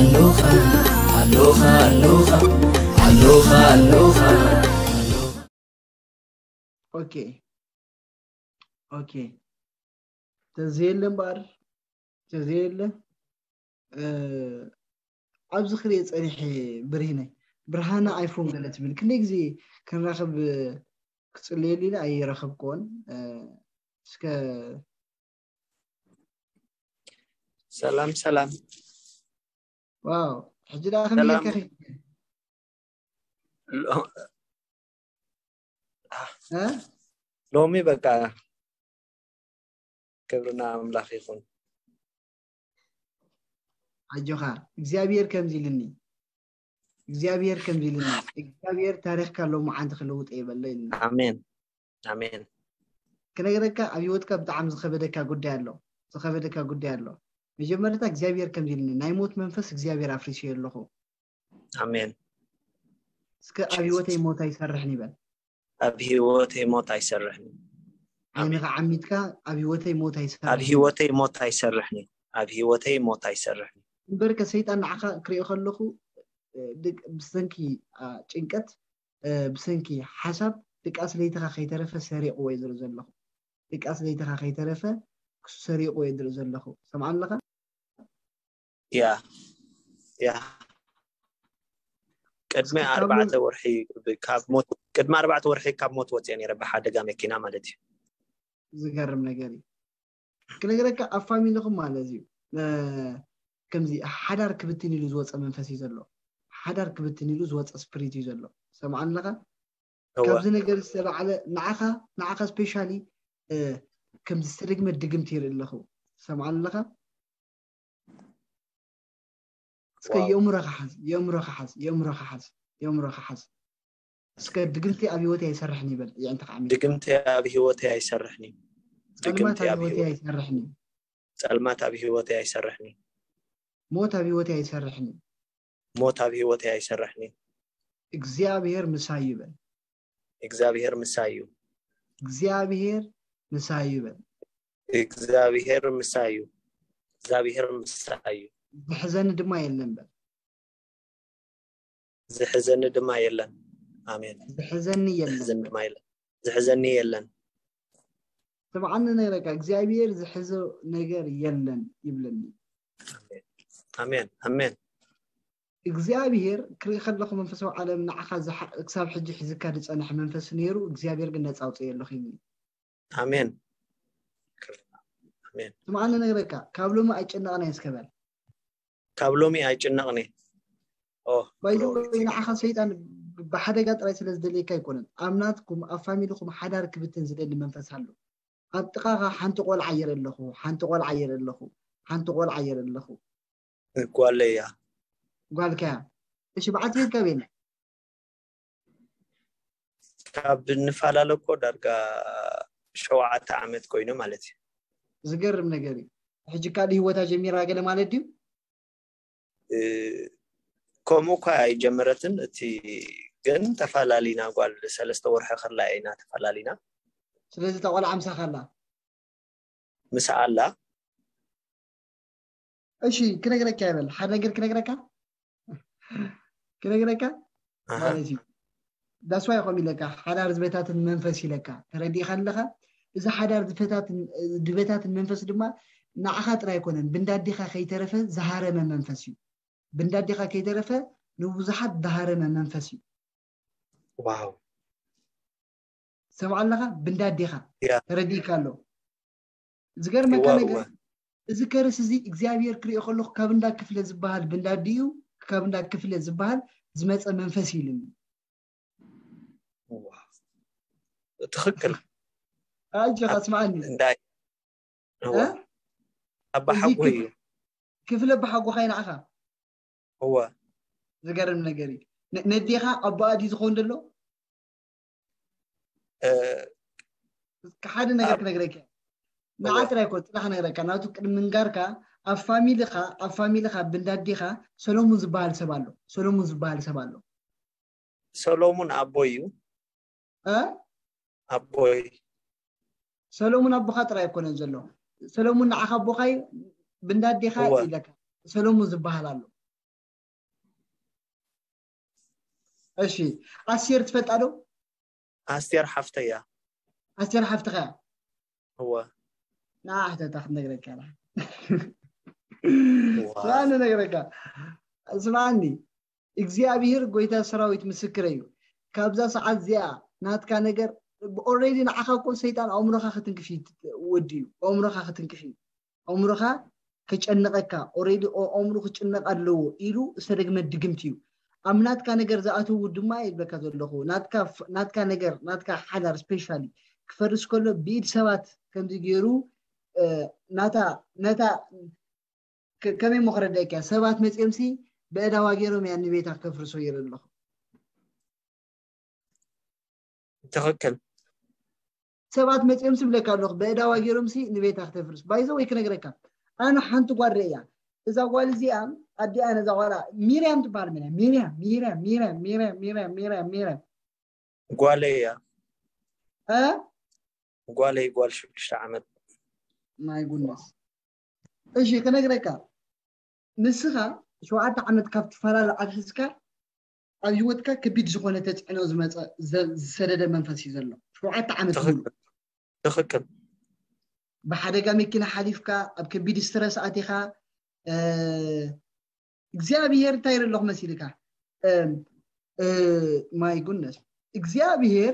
ኣሎኻ ኣሎኻ ኣሎኻ ኣሎኻ ኣሎኻ ኣሎኻ ኦኬ ኦኬ ተዘየለ እምበኣር ተዘየለ ኣብዚ ክሪኦ ፀኒሐ ብርሂነይ ብርሃነ ኣይፎን ገለ ትብል ክንደይ ግዜ ክንራኸብ ክፅልየሉ ኢለ ኣይረኸብክዎን እስከ ሰላም ሰላም ዋው ሕጂ ደኣ ከመይ ጌርካ ኸ ሎሚ በቃ ክብርና ኣምላኽ ይኹን። ኣጆኻ እግዚኣብሔር ከምዚ ኢልኒ እግዚኣብሔር ከምዚ ኢልኒ እግዚኣብሔር ታሪኽካ ሎምዓንቲ ክልውጥ የበሎ ኢልኒ። ኣሜን ኣሜን። ክነግረካ ኣብ ህይወትካ ብጣዕሚ ዝኸበደካ ጉዳይ ኣሎ ዝኸበደካ ጉዳይ ኣሎ። መጀመርታ እግዚኣብሔር ከምዚ ኢልኒ ናይ ሞት መንፈስ እግዚኣብሔር ኣፍሪሰዮ ኣለኹ። ኣሜን። እስከ ኣብ ህይወተይ ሞት ኣይሰርሕን ይበል። ኣብ ህይወተይ ሞት ኣይሰርሕን። ዓይንኻ ዓሚትካ ኣብ ህይወተይ ሞት ኣይሰርሕን። ኣብ ህይወተይ ሞት ኣይሰርሕን። ኣብ ህይወተይ ሞት ኣይሰርሕን። እምበርከ ሰይጣን ንዓኻ ክሪኦ ከለኹ ብሰንኪ ጭንቀት ብሰንኪ ሓሳብ ድቃስ ለይትኻ ከይተረፈ ሰሪቕዎ እየ ዝርኢ ዘለኹ። ድቃስ ለይትኻ ከይተረፈ ክሱ ሰሪቕዎ እየ ዝርኢ ዘለኹ። ሰምዓ ኣለኻ? ያ ያ ቅድሚ ኣርባዕተ ወርሒ ካብ ሞት ቅድሚ ኣርባዕተ ወርሒ ካብ ሞት ወፅየ ነይረ ብሓደጋ መኪና ማለት እዩ። ዝገርም ነገር እዩ። ክነግረካ ኣብ ፋሚሊኹም ማለት እዩ ከምዚ ሓዳር ክብትን ኢሉ ዝወፀ መንፈስ እዩ ዘሎ። ሓዳር ክብትን ኢሉ ዝወፀ ስፕሪት እዩ ዘሎ። ሰምዓ ኣለኻ? ካብዚ ነገር ዝተባዕለ ንዓኻ ንዓኻ ስፔሻሊ ከምዚ ዝተደግመ ድግምቲ ይርኢ ኣለኹ። ሰምዓ ኣለኻ? እስከ የእምሮኻ ሓዝ፣ የእምሮኻ ሓዝ፣ የእምሮኻ ሓዝ፣ የእምሮኻ ሓዝ። እስከ ድግምቲ ኣብ ህይወተይ ኣይሰርሕን ይበል። የዕንትኻ ዓሚት። ድግምቲ ኣብ ህይወተይ ኣይሰርሕን እዩ። ጸልማት ኣብ ህይወተይ ኣይሰርሕን እዩ። ጸልማት ኣብ ህይወተይ ኣይሰርሕን እዩ። ሞት ኣብ ህይወተይ ኣይሰርሕን እዩ። ሞት ኣብ ህይወተይ ኣይሰርሕን እዩ። እግዚኣብሔር ምሳይ ይበል። እግዚኣብሔር ምሳይ እዩ። እግዚኣብሔር ምሳይ ይበል። እግዚኣብሔር ምሳይ እዩ። እግዚኣብሔር ምሳይ እዩ። ዝሕዘኒ ድማ የለን በል። ዝሕዘኒ ድማ የለን። ኣሜን። ዝሕዘኒ የለን። ዝሕዘኒ ድማ የለን። ዝሕዘኒ የለን። ስምዓኒ ነይረካ እግዚኣብሔር ዝሕዞ ነገር የለን ይብለኒ። ኣሜን ኣሜን። እግዚኣብሔር ክርኢ ከለኹ መንፈሳዊ ዓለም ንዓኻ ክሳብ ሕጂ ሒዝካ ዝጸንሐ መንፈስ ነይሩ እግዚኣብሔር ግን ነጻ ኣውፅእ ኣለኹ ይብል። ኣሜን ኣሜን። ስምዓኒ ነግረካ ካብ ሎሚ ኣይጨነቕን እየ እስከ በል። ካብ ሎሚ ኣይጭነቕን እየ። ባይዘወይ ንዓኻ ሰይጣን ብሓደጋ ጥራይ ስለ ዝደልየካ ኣይኮነን። ኣብ ናትኩም ኣብ ፋሚልኹም ሓዳር ክብትን ዝደሊ መንፈስ ኣሎ። ኣብ ጥቓኻ ሓንቲ ቆልዓ የረ ኣለኹ፣ ሓንቲ ቆልዓ የረ ኣለኹ፣ ሓንቲ ቆልዓ የረ ኣለኹ። ጓለይ እያ። ጓልካ እያ። እሺ በዓልቲ ቤትካ ኣበይ ኣላ? ካብ ንፈላለ እኮ ዳርጋ ሸውዓተ ዓመት ኮይኑ ማለት እዩ። ዝገርም ነገር እዩ። ሕጂ ካልእ ህይወታ ጀሚራ ገለ ማለት ድዩ? ከምኡ እኳ ኣይጀመረትን። እቲ ግን ተፋላሊና ጓል ሰለስተ ወርሒ ከላ ኢና ተፋላሊና። ስለዚ እታ ቆልዓ ምሳኻ ኣላ? ምሳኣ ኣላ። እሺ ክነግረካ ይበል ሓደ ነገር ክነግረካ ክነግረካ ማለት እዩ። ዳስዋይ ይኾም ኢለካ ሓዳር ዝበታትን መንፈስ ኢለካ ተረዲእካ ኣለኻ። እዚ ሓዳር ዝበታትን ዝበታትን መንፈስ ድማ ንዓኻ ጥራይ ኣይኮነን ብንዳዲኻ ከይተረፈ ዝሃረመ መንፈስ እዩ። ብንዳዲኻ ከይተረፈ ንብዙሓት ዝሃረመ መንፈስ እዩ። ዋው ሰምዓ ኣለኻ ብንዳዲኻ ተረዲእካ ኣሎ። ዝገርመካ ነገር እዚ ከርስ እዚ እግዚኣብሔር ክሪኦ ከለኹ ካብ እንዳ ክፍለ ዝበሃል ብንዳዲ እዩ ካብ እንዳ ክፍለ ዝበሃል ዝመፀ መንፈስ እዩ ኢሉኒ። ትኽክል ኣጆኻ ስምዓኒ እንታይ ኣባ ሓጎ እዩ ክፍለ ኣባ ሓጎኻ እዩ ንዓኻ እወ ዝገርም ነገር እዩ ነዴኻ ኣቦኣ ድዩ ዝኸውን ዘሎ ሓደ ነገር ክነግረካ ንዓ ጥራይ ኮ ጥራሕ ነግረካ ናቱ ቅድሚ ምንጋርካ ኣብ ፋሚልኻ ኣብ ፋሚልኻ ብንዳዴኻ ሰሎሙን ዝበሃል ሰብ ኣሎ ሰሎሙን ዝበሃል ሰብ ኣሎ ሰሎሙን ኣቦይ እዩ ኣቦይ ሰሎሙን ኣቦኻ ጥራይ ኣይኮነን ዘሎ ሰሎሙን ንዓኻ ኣቦኻይ ብንዳዴኻ ኢለካ ሰሎሙን ዝበሃል ኣሎ እሺ፣ ኣስቴር ትፈልጣ ዶ? ኣስቴር ሓፍተያ። ኣስቴር ሓፍትኻ እያ? እወ። ንዓ ሕተታ ክትነግረካ እያ። ዋው። ስማዕኒ ነግረካ፣ ስማዕኒ፣ እግዚኣብሔር ጎይታ ሰራዊት ምስክረ እዩ። ካብዛ ሰዓት እዚኣ ናትካ ነገር ኦልሬዲ ንዓኻ እኮ ሰይጣን ኣእምሮኻ ክትንክፍ እዩ ወዲ እዩ። ኣእምሮኻ ክትንክፍ እዩ። ኣእምሮኻ ክጨንቐካ ኦልሬዲ ኣእምሮ ክጭነቕ ኣለዎ ኢሉ ዝተደግመ ድግምት እዩ። ኣብ ናትካ ነገር ዝኣተዉ ድማ ይብለካ ዘለኹ ናትካ ናትካ ነገር ናትካ ሓዳር ስፔሻሊ ክፈርስ ከሎ ብኢድ ሰባት ከምዚ ገይሩ ናታ ነታ ከመይ ሞ ክረዳእካ ሰባት መፅኦምሲ በእዳዋ ገይሮም እያ ንቤታ ከፍርሶ ይረ ኣለኹ። ትኽክል። ሰባት መፅኦምሲ ብለካ ኣለኹ በእዳዋ ገይሮምሲ ንቤታ ክተፍርስ ባይዘ ወይ ክነግረካ ኣነ ሓንቲ ጓል ርእያ እዛ ጓል እዚኣ ኣዲኣ ነዛ ጓላ ሚርያም ትበሃል ሚርያም ሚርያም ሚርያም ሚርያም ሚርያም ሚርያም ሚርያም ሚርያም ጓለይ እያ። እ ጓለይ ጓል ሽዱሽተ ዓመት። ማይ ጉድነስ። እሺ ክነግረካ ንስኻ ሸውዓተ ዓመት ካብ ትፈላለ ኣትሒዝካ ኣብ ህይወትካ ከቢድ ዝኾነ ተፅዕኖ ዝመፀ ዝሰደደ መንፈስ እዩ ዘሎ። ሸውዓተ ዓመት ሙሉ ትኽክል። ብሓደጋ መኪና ሓሊፍካ ኣብ ከቢድ ስትረስ ኣቲኻ እግዚኣብሔር እንታይ ይረለኹ መሲልካ ማይ ጉነስ እግዚኣብሔር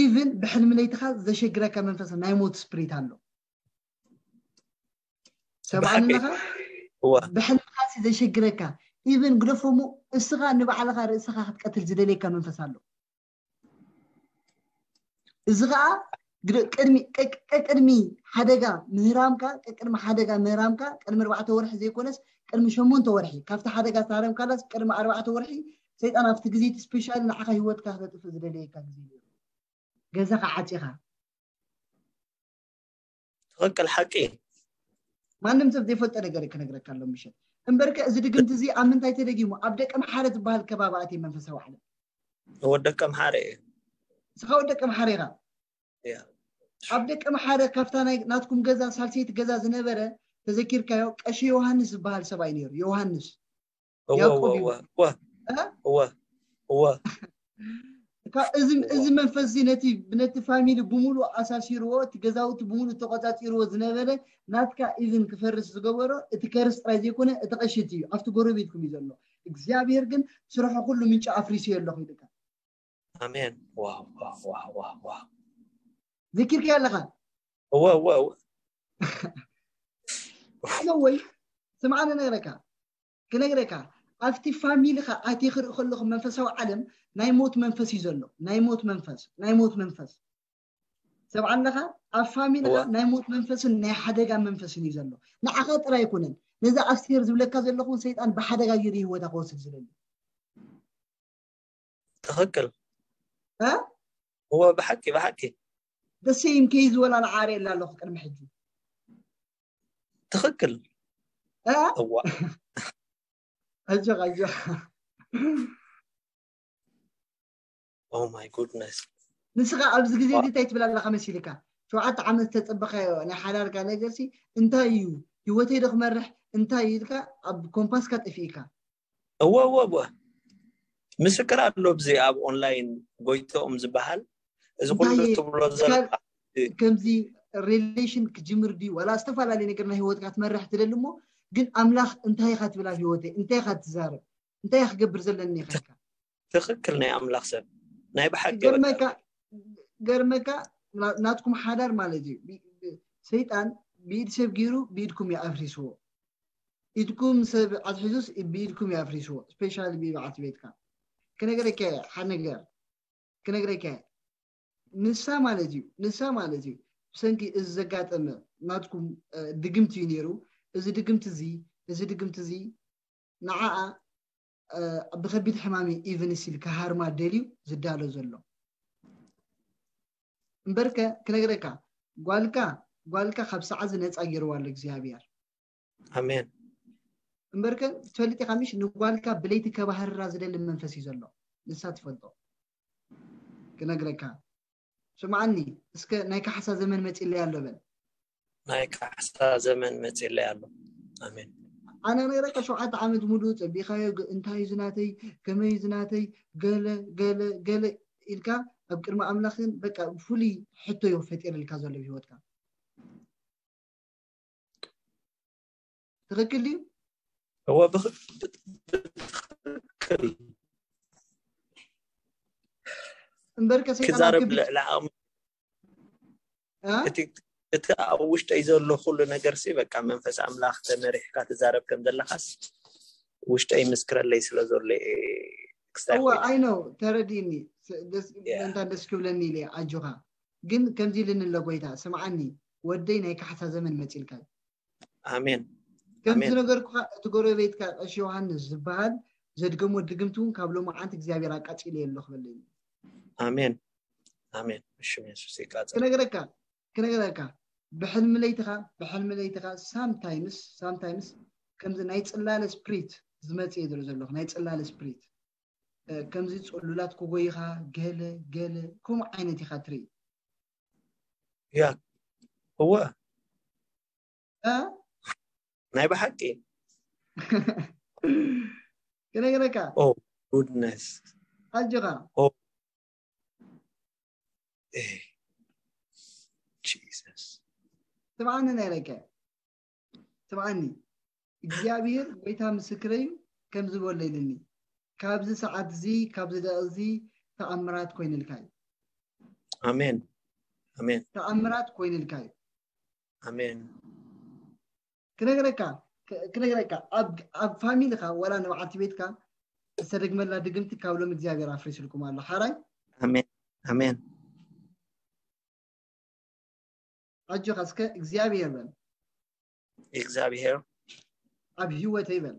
ኢቭን ብሕልሚ ለይትኻ ዘሸግረካ መንፈስ ናይ ሞት ስፕሪት ኣሎ። ሰብኣንኻ ብሕልምኻ ዘሸግረካ ኢቭን ግደፎሞ እስኻ ንባዕልኻ ርእስኻ ክትቀትል ዝደልየካ መንፈስ ኣሎ። እዚ ከዓ ቅድሚ ሓደጋ ምህራምካ ቅድሚ ሓደጋ ምህራምካ ቅድሚ ኣርባዕተ ወርሒ ዘይኮነስ ቅድሚ ሸሞንተ ወርሒ ካብቲ ሓደጋ ዝተሃረምካላስ ቅድሚ ኣርባዕተ ወርሒ ሰይጣን ኣብቲ ግዜ እቲ ስፔሻል ንዓኻ ህይወትካ ክተጥፍእ ዝደለየካ ግዜ ነይሩ። ገዛኻ ዓፂኻ ትኽክል ሓቂ። ማንም ሰብ ዘይፈልጦ ነገር ክነግረካ ኣሎ ምሸት። እምበርከ እዚ ድግምቲ እዚ ኣብ ምንታይ ተደጊሙ? ኣብ ደቀ ምሓረ ዝበሃል ከባቢ ኣትየ መንፈሳዊ ዓለም። ወደቀ ምሓረ እየ። ንስኻ ወደቀ ምሓረ ኢኻ። ኣብ ደቀ ምሓረ ካብታ ናይ ናትኩም ገዛ ሳልሰይቲ ገዛ ዝነበረ ተዘኪርካዮ ቀሺ ዮሃንስ ዝበሃል ሰብኣይ ነይሩ። ዮሃንስ እወ ያዕቆብ እወ እዩ። እወ እወ እ? እወ እወ እካ እዚ እዚ መንፈስ እዚ ነቲ ነቲ ፋሚሊ ብምሉእ ኣሳሲርዎ እቲ ገዛውቲ ብምሉእ ተቆጻጺርዎ ዝነበረ ናትካ ኢቭን ክፈርስ ዝገበሮ እቲ ከርስ ጥራይ ዘይኮነ እቲ ቀሽቲ እዩ ኣብቲ ጎረቤትኩም እዩ ዘሎ። እግዚኣብሔር ግን ስርሑ ኩሉ ምንጪ ኣፍሪሱ ኣለኹ ኢልካ ኣሜን። ዋው ዋው ዋው ዋው ዋው። ዘኪርካ ኣለኻ። እወ እወ እወ። ወይ ስምዓኒ ነግረካ ክነግረካ ኣብቲ ፋሚሊኻ ኣትየ ክርኢ ከለኹ መንፈሳዊ ዓለም ናይ ሞት መንፈስ እዩ ዘሎ። ናይ ሞት መንፈስ ናይ ሞት መንፈስ ሰብ ኣለኻ ኣብ ፋሚሊኻ እወ። ናይ ሞት መንፈስን ናይ ሓደጋ መንፈስን እዩ ዘሎ። ንዓኻ ጥራይ ኣይኮነን ነዚ ኣስቴር ዝብለካ ዘለኹ እውን ሰይጣን ብሓደጋ ገይሩ ህይወታ ክወስድ ዝደሊ ትኽክል። እ? እወ ብሓቂ ብሓቂ። ደሴም ከይ ዝበላ ንዓረ የላ ኣለኹ ቅድሚ ሕጂ ትኽክል። እ? እዋ ኣጆኻ ኣጆኻ Oh my goodness። ንስኻ ኣብዚ ግዜ እዚ እንታይ ትብል ኣለኻ መሲልካ? ሸውዓተ ዓመት ዝተፀበኻዮ ናይ ሓዳርካ ነገርሲ እንታይ እዩ? ህይወተይ ዶ ክመርሕ እንታይ እዩ ኢልካ ኣብ ኮምፓስካ ጠፊእካ። እወ እወ እወ። ምስክር ኣሎ ብዚ ኣብ ኦንላይን ጎይቶኦም ዝበሃል እዚ ኩሉ እንታይ ትብሎ ዘለካ እስካብ ከምዚ ሪሌሽን ክጅምር ድዩ ዋላ ዝተፈላለዩ ነገር ናይ ህይወትካ ትመርሕ ትደሊ እሞ ግን ኣምላኽ እንታይ ኢኻ ትብል ኣብ ህይወተይ እንታይ ኢኻ ትዛረብ እንታይ ኢኻ ክገብር ዘለኒ ኢኻ ኢልካ ትኽክል ናይ ኣምላኽ ሰብ ናይ ብሓቂ ገርመካ ገርመካ ና- ናትኩም ሓዳር ማለት እዩ ቢ- ቢ- ሰይጣን ብኢድ ሰብ ገይሩ ብኢድኩም እዩ ኣፍሪስዎ ኢድኩም ሰብ ኣትሒዙስ ብኢድኩም እዩ ኣፍሪስዎ ስፔሻሊ ብበዓልቲ ቤትካ ክነገረካ እየ ሓደ ነገር ክነግረካ እየ ንሳ ማለት እዩ ንሳ ማለት እዩ ብሰንኪ እዚ ዘጋጠመ ናትኩም እ፣ ድግምቲ እዩ ነይሩ እዚ ድግምቲ እዚ እዚ ድግምቲ እዚ ንዓኣ እ፣ ብከቢድ ሕማም እዩ ኢቨን ሲል ክሃርማ ደልዩ ዝዳሎ ዘሎ እምበርከ ክነግረካ ጓልካ ጓልካ ካብ ሰዓዚ ነፃ ገይርዋ ኣሎ እግዚኣብሔር ኣሜን። እምበርከ ትፈልጥ ኢኻ ምሽ ንጓልካ ብለይቲ ከባህርራ ዝደሊ መንፈስ እዩ ዘሎ ንሳ ትፈልጦ ክነግረካ ስምዓኒ እስከ ናይ ካሕሳ ዘመን መፂለይ ኣሎ በል ናይ ካሕሳ ዘመን መፂለይ ኣሎ። ኣሜን። ኣነ ነረካ ሸውዓተ ዓመት ሙሉእ ጸቢኻዮ፣ ግ- እንታይ እዩ ዝናተይ፣ ከመይ እዩ ዝናተይ፣ ገለ ገለ ገለ ኢልካ ኣብ ቅድሚ ኣምላኽን በቃ ፍሉይ ሕቶ እዩ ፈጢርልካ ዘሎ ኣብ ህይወትካ። ትኽክል ድዩ? እወ ብትክክል እምበርከ ሰይጣን ኣብ ክዛረብ ክቢድ ልዕሊ ዓቕሚ እ? እቲ እቲ ኣብ ውሽጠይ ዘሎ ኩሉ ነገር ሲ በቃ መንፈስ ኣምላኽ ተመሪሕካ ትዛረብ ከም ዘለኻስ ውሽጠይ ምስክረለይ ስለ ዘሎ እየ ክስታይ እወ ኮይነ ኣይ ነው ተረዲእኒ። ስ- ደስ- Yeah. እንታ ደስ ክብለኒ ኢለ ኣጆኻ። ግን ከምዚ ኢልኒ ኣሎ ጎይታ፣ ስምዓኒ ወደይ፣ ናይ ካሕሳ ዘመን መፂልካ እዩ። ኣሜን ከምዚ ኣሜን ነገርኩኻ፣ እቲ ጎረቤትካ ቀሺ ዮሃንስ ዝበሃል ዘድገሞ ድግምቲ እውን ካብ ሎማዓንቲ እግዚኣብሔር ኣቃፂለ የሎ ክበለኒ። ኣሜን ኣሜን። ብሽም የሱስ ይቃጸል። ክነግረካ ክነግረካ ብሕልሚ ለይትኻ ብሕልሚ ለይትኻ ሳምታይምስ ሳምታይምስ ከምዚ ናይ ጽላለ ስፕሪት ዝመጽእ እዩ ዝርኢ ዘለኹ። ናይ ጽላለ ስፕሪት እ፣ ከምዚ ጽሉላት ክጎይኻ ገለ ገለ ከምኡ ዓይነት ኢኻ ትርኢ። ያ እወ እ? ናይ ብሓቂ ክነግረካ oh goodness ኣጆኻ oh eh Jesus ስምዓኒ ናይ ለቀ ስምዓኒ፣ እግዚኣብሔር ጎይታ ምስክረይ እዩ። ከምዚ በሎ ኢልኒ፣ ካብዚ ሰዓት እዚ ካብዚ ደቂ እዚ ተኣምራት ኮይንልካ እዩ። ኣሜን ኣሜን ተኣምራት ኮይንልካ እዩ። ኣሜን ክነግረካ ክ- ክነግረካ ኣብ ኣብ ፋሚሊካ ወላ ንበዓልቲ ቤትካ ዝተደግመላ ድግምቲ ካብ ሎም እግዚኣብሔር ኣፍሪስልኩም ኣሎ። ሓራይ ኣሜን ኣሜን። ኣጆኻ እስከ እግዚኣብሔር በል፣ እግዚኣብሔር ኣብ ህይወተይ በል፣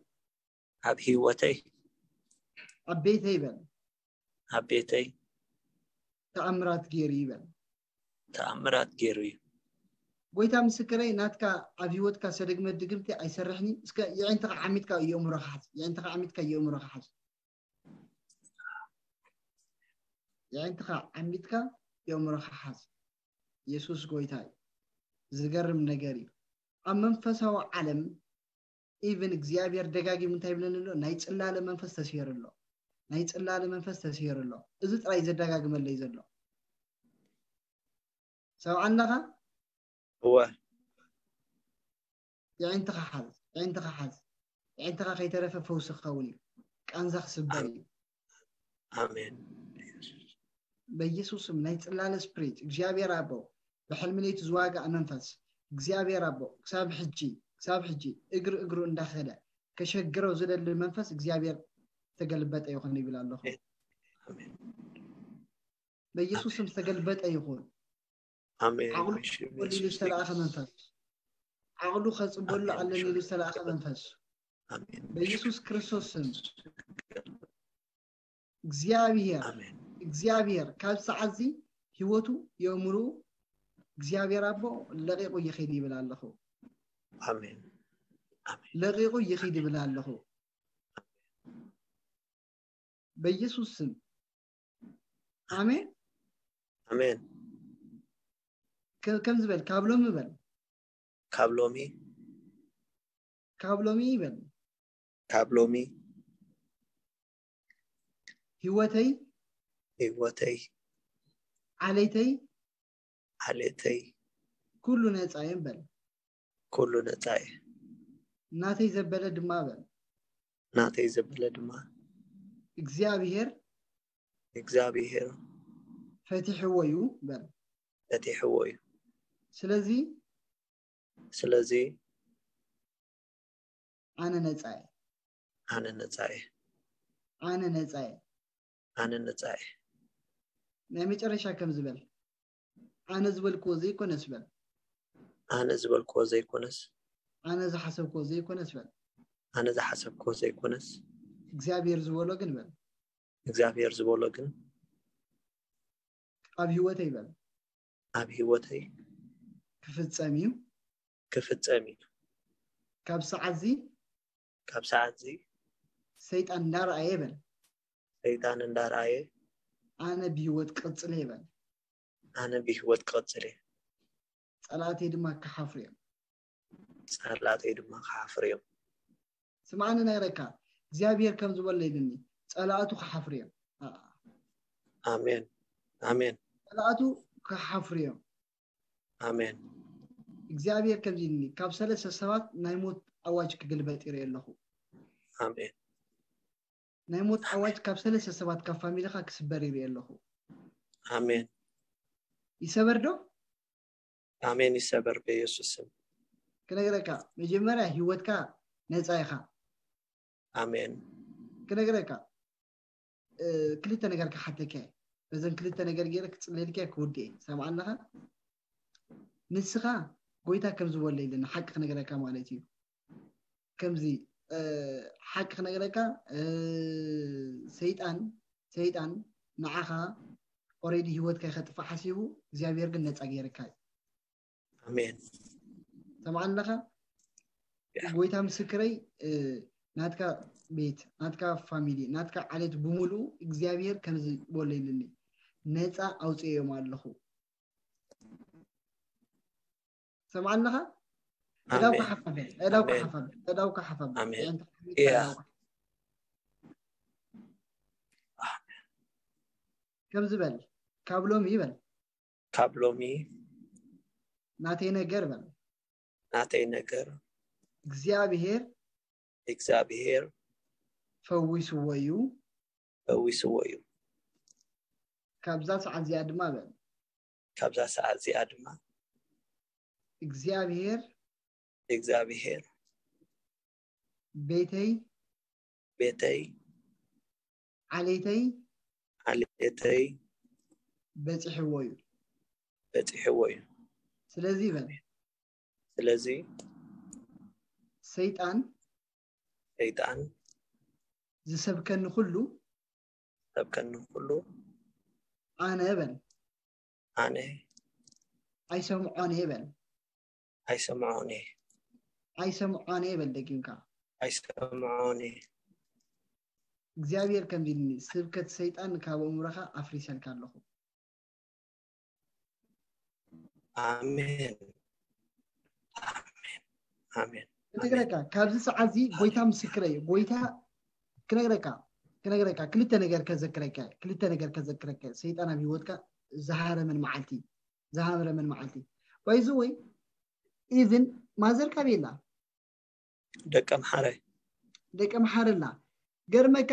ኣብ ህይወተይ ኣብ ቤተይ በል፣ ኣብ ቤተይ ተኣምራት ገይሩ ይበል። ተኣምራት ገይሩ እዩ። ጎይታ ምስክረይ፣ ናትካ ኣብ ህይወትካ ዝተደግመ ድግምቲ ኣይሰርሕን እዩ። እስከ የዒንትኻ ዓሚትካ የእምሮኻ ሓዝ፣ የዒንትኻ ዓሚትካ የእምሮኻ ሓዝ፣ የዒንትኻ ዓሚትካ የእምሮኻ ሓዝ። የሱስ ጎይታ እዩ። ዝገርም ነገር እዩ። ኣብ መንፈሳዊ ዓለም ኢቭን እግዚኣብሔር ደጋጊሙ እንታይ ይብለኒ ኣሎ? ናይ ጽላለ መንፈስ ተስሄሩ ኣሎ፣ ናይ ጽላለ መንፈስ ተስሄሩ ኣሎ። እዚ ጥራይ ዘደጋግመለይ ዘሎ። ሰብዓ ኣለኻ? እወ የዒንትኻ ሓዝ፣ የዒንትኻ ሓዝ። የዒንትኻ ከይተረፈ ፈውሲ ክኸውን እዩ። ቃንዛ ክስበር እዩ። ኣሜን። በኢየሱስ ስም ናይ ጽላለ ስፕሪት እግዚኣብሔር ኣቦ ብሕልሚ ለይቲ ዝዋጋእ መንፈስ እግዚኣብሔር ኣቦ ክሳብ ሕጂ ክሳብ ሕጂ እግሪ እግሩ እንዳኸደ ከሸግረው ዝደሊ መንፈስ እግዚኣብሔር ተገልበጠ ይኹን ይብል ኣለኹ። ኣሜን። በኢየሱስ ስም ዝተገልበጠ ይኹን። ኣሜን። ዓቕሉ ብሽም ከጽበሉ ኢሉ የሱስ ዝተላእኸ ይግለጽ። መንፈስ፣ ዓቕሉ ከጽበሉ ኣሜን። ኣለኒ ኢሉ ብሽም ዝተላእኸ የሱስ መንፈስ ኣሜን። በኢየሱስ ክርስቶስ ስም እግዚኣብሔር ኣሜን። እግዚኣብሔር ካብ ሰዓት እዚ ህይወቱ የእምሩ እግዚኣብሔር ኣቦ ለቂቑ ይኸይድ ይብል ኣለኹ። ኣሜን። ኣሜን። ለቂቑ ይኸይድ ይብል ኣለኹ። በኢየሱስ ስም ኣሜን። ኣሜን። ከ- ከምዚ በል፣ ካብ ሎሚ በል፣ ካብ ሎሚ ካብ ሎሚ ይበል፣ ካብ ሎሚ ህይወተይ ህይወተይ ዓሌተይ ዓሌተይ ኩሉ ነፃ እየ በል። ኩሉ ነፃ እየ። ናተይ ዘበለ ድማ በል። ናተይ ዘበለ ድማ እግዚኣብሔር እግዚኣብሔር ፈቲሕዎ እዩ በል። ፈቲሕዎ እዩ። ስለዚ ስለዚ ኣነ ነፃ እየ፣ ኣነ ነፃ እየ። ኣነ ነፃ እየ። ኣነ ነፃ እየ። ናይ መጨረሻ ከም ዝበል ኣነ ዝበልክዎ ዘይኮነስ በል። ኣነ ዝበልክዎ ዘይኮነስ ኣነ ዝሓሰብክዎ ዘይኮነስ በል። ኣነ ዝሓሰብክዎ ዘይኮነስ እግዚኣብሔር ዝበሎ ግን በል። እግዚኣብሔር ዝበሎ ግን ኣብ ህይወተይ በል። ኣብ ህይወተይ ክፍጸም እዩ። ክፍጸም እዩ። ካብ ሰዓት እዚ ካብ ሰዓት እዚ ሰይጣን እንዳረኣየ በል። ሰይጣን እንዳረኣየ ኣነ ብህይወት ቅጽል እየ በል። ኣነ ብህይወት ክቕጽል እየ። ጸላእተይ ድማ ክሓፍሩ እዮም። ጸላእተይ ድማ ክሓፍሩ እዮም። ስምዓኒ ነግረካ እግዚኣብሔር ከም ዝበሎ ኢልኒ ጸላእቱ ክሓፍሩ እዮም። ኣሜን ኣሜን ጸላእቱ ክሓፍሩ እዮም። ኣሜን እግዚኣብሔር ከምዚ ኢልኒ ካብ ሰለስተ ሰባት ናይ ሞት ኣዋጅ ክግልበጥ ይርኢ ኣለኹ። ኣሜን ናይ ሞት ኣዋጅ ካብ ሰለስተ ሰባት ካብ ፋሚሊኻ ክስበር ይርኢ ኣለኹ። ኣሜን ይሰበር ዶ? ኣሜን ይሰበር በኢየሱስ ስም። ክነግረካ መጀመርያ ህይወትካ ነፃ ኢኻ። ኣሜን ክነግረካ እ፣ ክልተ ነገር ክሓተካ እየ። በዘን ክልተ ነገር ገይረ ክፅለልካ እየ ክውድእ እየ። ሰምዓ ኣለኻ? ንስኻ ጎይታ ከም ዝበሎ ኢለ ንሓቂ ክነግረካ ማለት እዩ። ከምዚ እ፣ ሓቂ ክነግረካ እ፣ ሰይጣን ሰይጣን ንዓኻ ኦሬዲ ህይወትካ ከጥፋእ ሓሲቡ እግዚኣብሔር ግን ነፃ ገይርካ እዩ። ኣሜን ሰምዓ ኣለኻ? ጎይታ ምስክረይ እ፣ ናትካ ቤት ናትካ ፋሚሊ ናትካ ዓሌት ብምሉኡ እግዚኣብሔር ከምዚ በሎ ኢልኒ ነፃ ኣውፅኦም ኣለኹ። ሰምዓ ኣለኻ? ዕዳውካ ኣሜን ሓፋበ ዕዳውካ ኣሜን ሓፋበ ዕዳውካ ሓፋበ ኣሜን ዕዳውካ እያ ከምዚ በል ካብ ሎሚ ይበል ካብ ሎሚ ናተይ ነገር በል ናተይ ነገር እግዚኣብሔር እግዚኣብሔር ፈዊስዎ እዩ። ፈዊስዎ እዩ። ካብዛ ሰዓት እዚኣ ድማ በል ካብዛ ሰዓት እዚኣ ድማ እግዚኣብሔር እግዚኣብሔር ቤተይ ቤተይ ዓሌተይ ዓሌተይ በፂሕዎ እዩ። በፂሕዎ እዩ። ስለዚ በል ስለዚ ሰይጣን ሰይጣን ዝሰብከኒ ኩሉ ሰብከኒ ኩሉ ኣነ በል ኣነ ኣይሰምዖን እየ በል ኣይሰምዖን እየ ኣይሰምዖን እየ በል። ደጊምካ ኣይሰምዖን እየ። እግዚኣብሔር ከምዚ ኢልኒ ስብከት ሰይጣን ካብ ኣእምሮኻ ኣፍሪሰልካ ኣለኹ። ኣሜን ኣሜን ኣሜን ክነግረካ ካብዚ ሰዓት እዚ ጎይታ ምስክረ እዩ። ጎይታ ክነግረካ ክነግረካ ክልተ ነገር ከዘክረካ ክልተ ነገር ከዘክረካ ሰይጣን ኣብ ህይወትካ ዝሃረመን መዓልቲ ዝሃረመን መዓልቲ ባይዚ ወይ ኢቭን ማዘርካ ቤላ ደቀ ምሓረ ደቂ መሓረና ገርመካ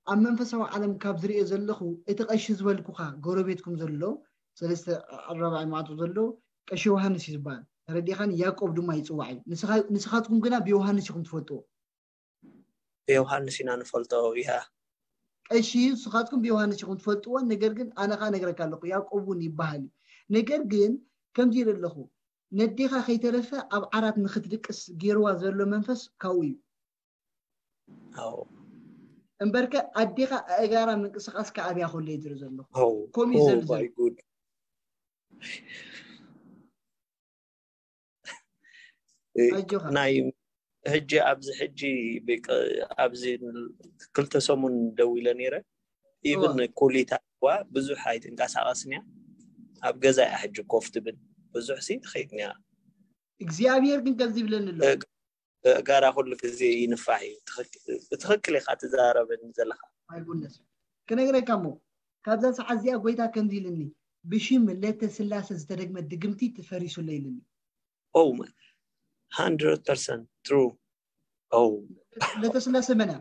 ኣብ መንፈሳዊ ዓለም ካብ ዝሪኦ ዘለኹ እቲ ቀሺ ዝበልኩኻ ጎረቤትኩም ዘሎ ሰለስተ ኣራባዒ ማዕጦ ዘሎ ቀሺ ዮሃንስ እዩ ዝበሃል። ተረዲኻን? ያዕቆብ ድማ ይፅዋዕ እዩ። ንስኻትኩም ግና ብዮሃንስ ኢኹም ትፈልጥዎ። ብዮሃንስ ኢና ንፈልጦ። ያ ቀሺ ንስኻትኩም ብዮሃንስ ኢኹም ትፈልጥዎ። ነገር ግን ኣነ ኸዓ ነግረካ ኣለኹ ያዕቆብ እውን ይበሃል እዩ። ነገር ግን ከምዚ ኢለ ኣለኹ ነዴኻ ከይተረፈ ኣብ ዓራት ንኽትድቅስ ገይርዋ ዘሎ መንፈስ ካብኡ እዩ። ኣዎ እምበርከ ኣዴኻ ኣእጋራ ምንቅስቃስ ከኣብያ ከሎ እዩ ዝርኢ ዘለኹ። ኣዎ ከምኡ እዩ ኦ ዘሉ ዘሎ። ማይ ጉድ ኣጆኻ። ናይ ሕጂ ኣብዚ ሕጂ ብቅ- ኣብዚ ክልተ ሰሙን ደው ኢለ ነይረ። ኢብን እዋ። ኩሊታ ዋ ብዙሕ ኣይትንቀሳቐስን እያ። ኣብ ገዛ እያ ሕጂ ኮፍ ትብል። ብዙሕ ሲ ትኸይድ እያ። እግዚኣብሔር ግን ከምዚ ይብለኒ ኣሎ። እግ- እጋራ ኩሉ ግዜ ይንፋሕ እዩ። ትኽክ- ብትኽክል ኢኻ ትዛረበኒ ዘለኻ። ኣይጉነስ ክነግረካ እሞ ካብዛ ሰዓት እዚኣ ጎይታ ከምዚ ኢልኒ ብሽም ለተ ስላሴ ዝተደግመ ድግምቲ ትፈሪሱለ ኢልኒ። ኦ hundred percent true። ኦ ለተ ስላሴ መን እያ?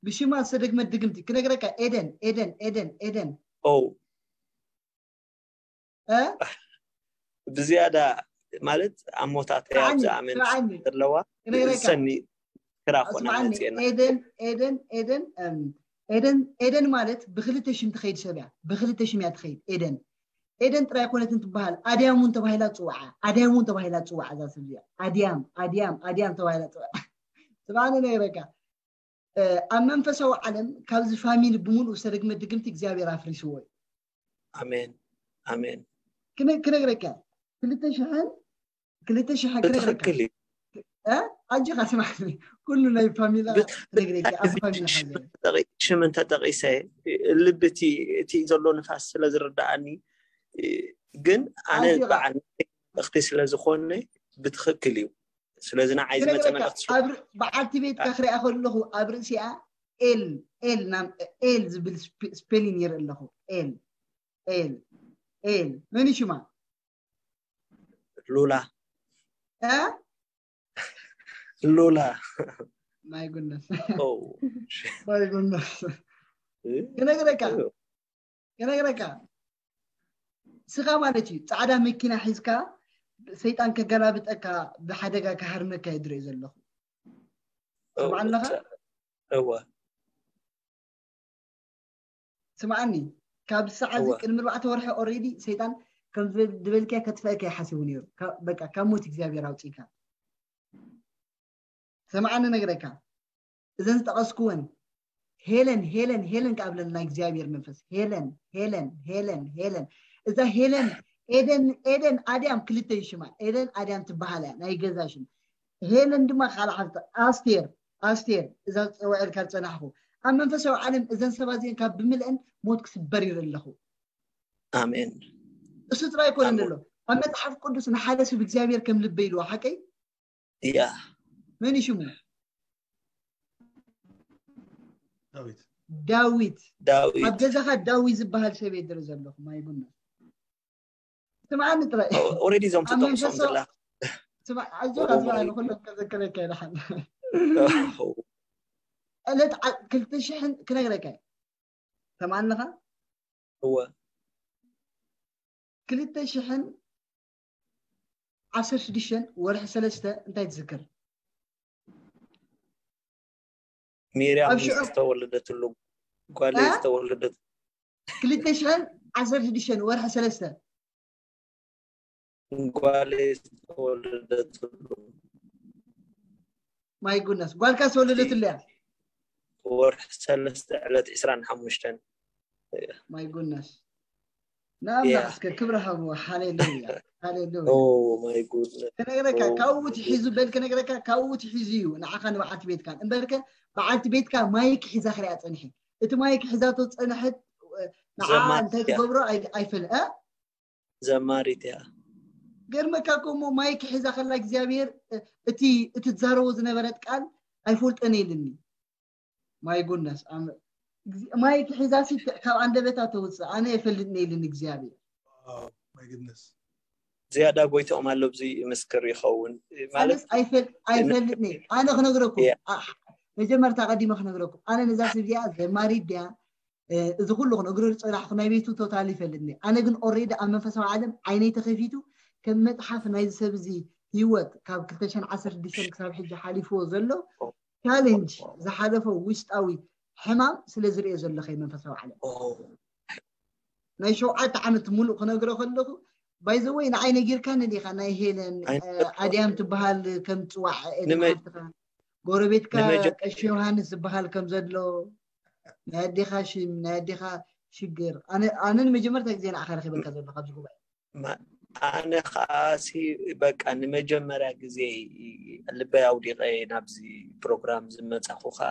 ብሽማ ዝተደግመ ድግምቲ ክነግረካ ኤደን ኤደን ኤደን ኤደን ኦ እ? ብዝያዳ ማለት ኣሞታት ስምዓኒ፣ ኣብዚ ኣመን ስምዓኒ። ዘለዋ ክነግረካ። ሰኒ ክራ ኮና ስምዓኒ መፅኤና ኤደን ኤደን ኤደን እም፣ ኤደን ኤደን ማለት ብክልተ ሽም ትኸይድ ሰብ እያ። ብክልተ ሽም እያ ትኸይድ ኤደን። ኤደን ጥራይ ኮነትን ትበሃል። ኣድያም እውን ተባሂላ ትፅዋዓ። ኣድያም እውን ተባሂላ ትፅዋዓ እዛ ሰብ እዚኣ። ኣድያም ኣድያም ኣድያም ተባሂላ ትፅዋዓ። ስምዓኒ ነግረካ እ፣ ኣብ መንፈሳዊ ዓለም ካብዚ ፋሚሊ ብምሉእ ዝተደግመ ድግምቲ እግዚኣብሔር ኣፍሪስዎ እዩ። ኣሜን ኣሜን። ክነ- ክነግረካ ክልተ ሽሕን ክልተ ሽሕን ክነግረካ ብትኽክል እዩ። እ? ኣጆኻ ስማዕ ኩሉ ናይ ፋሚላ ብት- ክነግረካ ኣብ እዚ ፋሚላ ሽም እንተጠቒ- ሽም እንተጠቒሰ ልቢ እቲ እቲ ዘሎ ንፋስ ስለ ዝርዳኣኒ ግን ኣነ ኣጆኻ። በዓል እኽቲ ስለ ዝኾነ ብትኽክል እዩ። ስለዚ ንዓይ ዝመፀ ክነግረካ መልእኽቲ ኣብ ር- በዓልቲ ቤትካ ክሪኣ ከለኹ ኣብ ርእሲኣ ኤል ኤል ናም ኤል ዝብል ስፔ- ስፔሊን ይርኢ ኣለኹ። ኤል ኤል ኤል መን እዩ ሽማ? ሉላ እ? ሉላ ማይ ጉድነስ ኦ፣ ማይ ጉድነስ እ? ክነግረካ እ። ክነግረካ ስኻ ማለት እዩ ፃዕዳ መኪና ሒዝካ ሰይጣን ከገላብጠካ ብሓደጋ ክሃርመካ ይድርኢ ዘለኹ። ኦ፣ ስምዓለኻ? እወ ስምዓኒ ካብ ሰዓት እዚ እወ ቅድሚ ኣርባዕተ ወርሒ ኦሬዲ ሰይጣን ከም ዝበል- ዝበልካዮ ከጥፈእካ ይሓስቡ ነይሩ። ካ- በቃ ካብ ሞት እግዚኣብሔር ኣውፅእካ። ስምዓኒ ነግረካ እዘን ዝጠቐስኩወን ሄለን ሄለን ሄለን ከኣብለና እግዚኣብሔር መንፈስ ሄለን ሄለን ሄለን ሄለን እዛ ሄለን ኤደን ኤደን ኣድያም ክልተ ይሽማ ኤደን ኣድያም ትበሃል እያ ናይ ገዛ ሽም ሄለን ድማ ካልእ ሓፍቲ ኣስቴር ኣስቴር እዛ ዝፀውዐልካ ዝፀናሕኩ ኣብ መንፈሳዊ ዓለም እዘን ሰባት እዚአን ካብ ብምልአን ሞት ክስበር ይርኢ ኣለኹ። ኣሜን። እሱ ጥራይ ኣይኮነን ኣሜን። ዘሎ ኣብ መፅሓፍ ቅዱስ ንሓደ ሰብ እግዚኣብሔር ከም ልበ ኢልዎ ሓቀይ ያ መን እዩ ሽሙ? ዳዊት ዳዊት ኣብ ዳዊት ገዛኻ ዳዊት ዝበሃል ሰብ የድሪ ዘለኹ ማይ ጉና ስምዓኒ ጥራይ ኦሬዲ እዞም ኣብ ትጠቕሶም መንፈሳዊ ዘላ ስማ- ኣጆኻ ኦሮሞ ስምዓኒ እዩ። ኩሎም ከዘክረካ ይደሓን ኦሆ፣ ዕለት ዓ- ክልተ ሽሕን ክነግረካ እዩ። ሰምዓኒ ኣለኻ እወ ክልተ ሽሕን ዓሰርተ ሽዱሽተን ወርሒ ሰለስተ እንታይ ትዝክር? ሚርያም ኣብ ሽዑ ዝተወለደትሉ ጓለይ እ? ዝተወለደት ክልተ ሽሕን ዓሰርተ ሽዱሽተን ወርሒ ሰለስተ ጓለይ ዝተወለደትሉ ማይ ጉነስ ጓልካ ዝተወለደትሉ እያ። ወርሒ ሰለስተ ዕለት ዕስራን ሓሙሽተን ማይ ጉነስ ንኣምላኽ ያ። እስከ ክብሪ ሃብዎ። ሃሌሉያ ሃሌሉያ። ኦ ማይ ጉድነስ ከነግረካ ኦ ካብኡ ማይ ትሒዙ በል ከነግረካ ካብኡ ትሒዙ እዩ ንዓኻ ንበዓልቲ ቤትካን እምበርከ በዓልቲ ቤትካ ማይክ ሒዛ ክሪኣ ፀንሐ እቲ ማይክ ሒዛቶ ዝፀንሐት ንዓ ዘማሪት እንታይ እያ። ትገብሮ ኣይ- ኣይፈል እ? ዘማሪት እያ። ገርመካ እኮ እሞ ማይክ ሒዛ ከላ እግዚኣብሔር እ- እቲ እቲ ትዛረቦ ዝነበረት ቃል ኣይፈልጠን ኢልኒ። ማይ ጉነስ ኣም- እግዚ- ማይክ ሒዛ ሲ ካብ ኣንደበታ ተውፅእ ኣነ የፈልጥን ኢልኒ እግዚኣብሔር። ዋው፣ ማይ ጉድነስ ዝያዳ ጎይትኦም ኣሎ ኣብዚ ምስክር ይኸውን ማለት ኣነስ ኣይፈል- ኣይፈልጥን እየ። ኣነ ክነግረኩም ያ። ኣ- መጀመርታ ቀዲመ ክነግረኩም ኣነ ነዛ ሰብ እዚኣ ዘማሪት ድያ እ፣ እዚ ኩሉ ክነግሮ ዝፀናሕኩ ናይ ቤቱ ቶታል ይፈልጥኒ ኣነ ግን ኦሬዲ ኣብ መንፈሳዊ ዓለም ዓይነይ ተኸፊቱ ከም መፅሓፍ ናይዚ ሰብ እዚ ህይወት ካብ ክልተ ሽሕን ዓሰርተ ሽዱሽተን ክሳብ ሕጂ ሓሊፍዎ ዘሎ ቻሌንጅ ዝሓለፎ ውሽጣዊ ሕማም ስለ ዝርእዮ ዘለኸ መንፈሳዊ ዓለም ኦ ናይ ሸውዓተ ዓመት ሙሉእ ክነግሮ ከለኹ ባይዘወይ ንዓይ ነጊርካኒ ዲኻ ናይ ሄለን ኣይ- እ፣ ኣድያም ትበሃል ከም ፅዋዕ ንመ- ሓፍትኻ ጎረቤትካ ንመጀ- ቀሺ ዮሃንስ ዝበሃል ከም ዘሎ ናይ ኣዴኻ ሽም ናይ ኣዴኻ ሽግር ኣነ ኣነ ንመጀመርታ ግዜ ንዓኻ ረኺበካ ዘሎ ካብዚ ጉባኤ ማ- ኣነ ከዓሲ በቃ ንመጀመርያ ግዜ ልበይ ኣውዲቐ ናብዚ ፕሮግራም ዝመፃኹ ከዓ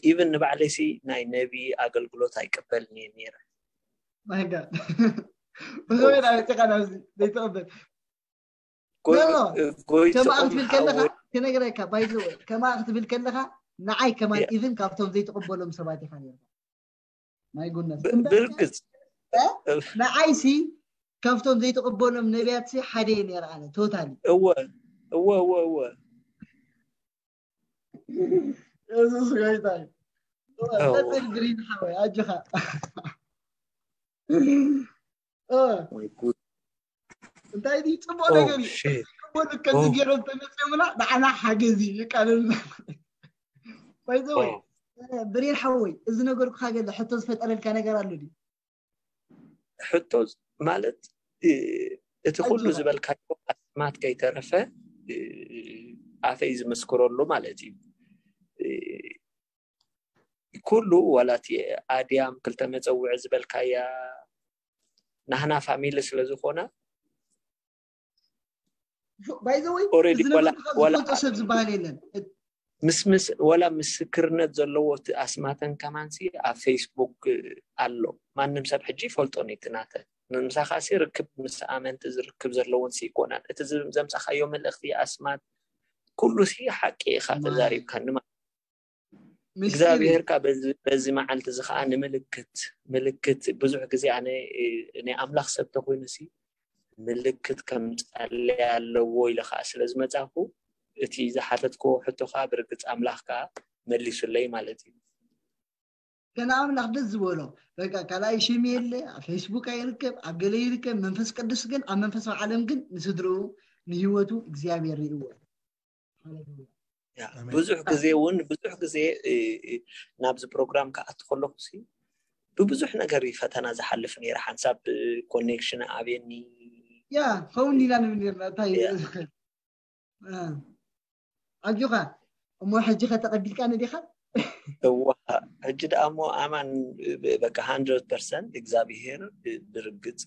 ኢቨን ንባዕለይሲ ናይ ነቢ ኣገልግሎት ኣይቅበልን እየ ነይረ። ማይ ጋድ ብዝወይ ናብ ጭቃ ናብዚ ዘይትቕበል ጎይ- ኖ፣ ኖ። ከማኣ ጎይትኦም ክትብል ከለኻ ሓወ- ክነግረካ ባይዘወ ከማኣ ክትብል ከለኻ ንዓይ ከማን ያ። ኢቭን ካብቶም ዘይትቕበሎም ሰባት ኢኻ ነርካ ማይ ጉነስ ብ- ብርግፅ ንዓይሲ ካብቶም ዘይትቕበሎም ነቢያትሲ ሓደ እየ ነረ ኣነ ቶታሊ እወ እወ እወ እወ የሱስ ጎይታ እዩ ኦ። ቀፅል ግሪን ሓወይ ኣጆኻ ኦ፣ ወይ ጉድ እንታይ ድዩ ፅቡቅ ኦ ነገር እዩ ሺት ክበሉ ከምዚ ኦ። ገይሮም ተመፅዮምና ንዓና ሓገዝ እዩ ይቃለልና ባይዘወይ ብሬን ሓወይ እዚ ነገርኩካ ገለ ሕቶ ዝፈጠረልካ ነገር ኣሎ ድዩ ሕቶ ማለት እ፣ እቲ ኩሉ ኣጆኻ። ዝበልካዮ ኣስማት ከይተረፈ እ፣ ኣፈይ ዝምስክረሉ ማለት እዩ እ፣ ኩሉ ዋላ እቲ ኣድያም ክልተ መፀውዒ ዝበልካያ ናህና ፋሚሊ ስለ ዝኾና ባይዘወይ ኦሬዲ እዚ ወላ ነገር ወላ ዝፈልጦ ሰብ ዝበሃል የለን ምስ ምስ ወላ ምስክርነት ዘለዎ እቲ ኣስማተን ከማንሲ ኣብ ፌስቡክ ኣሎ ማንም ሰብ ሕጂ ይፈልጦ ነቲ ናተን ምሳኻሲ ርክብ ምስ ኣመንቲ ዝርክብ ዘለዎን ሲ ይኮናን። እቲ ዝ- ዘምጻኻዮ መልእኽቲ ኣስማት ኩሉ ሲ ሓቂ ኢኻ ተዛሪብካኒ ማለት። እግዚኣብሔር ካ በዚ በዚ መዓልቲ እዚ ከዓ ንምልክት ምልክት ብዙሕ ግዜ ኣነ ናይ ኣምላኽ ሰብ ተኮይኑ ሲ ምልክት ከምጻለይ ኣለዎ ኢለ ከዓ ስለ ዝመጻኹ እቲ ዝሓተትክዎ ሕቶ ከዓ ብርግጽ ኣምላኽ ከዓ መሊሱለይ ማለት እዩ። ገና ኣምላኽ ደስ ዝበሎ በቃ ካልኣይ ሽም የለ፣ ኣብ ፌስቡክ ኣይርከብ፣ ኣብ ገለ ይርከብ። መንፈስ ቅዱስ ግን ኣብ መንፈሳዊ ዓለም ግን ንስድርኡ ንህይወቱ እግዚኣብሔር ርእዎ። ብዙሕ ግዜ እውን ብዙሕ ግዜ ናብዚ ፕሮግራም ክኣቱ ከለኹ ሲ ብብዙሕ ነገር እዩ ፈተና ዝሓልፍ ነይረ። ሓንሳብ ኮኔክሽን ኣቤኒ ያ ኸውን ኢና ንብል ነርና እንታይ ኣጆኻ እሞ ሕጂ ከተቐቢልካ ነዲኻ እዋ ሕጂ ደኣ እሞ ኣማን በቃ ሃንድረድ ፐርሰንት እግዚኣብሄር ብርግጽ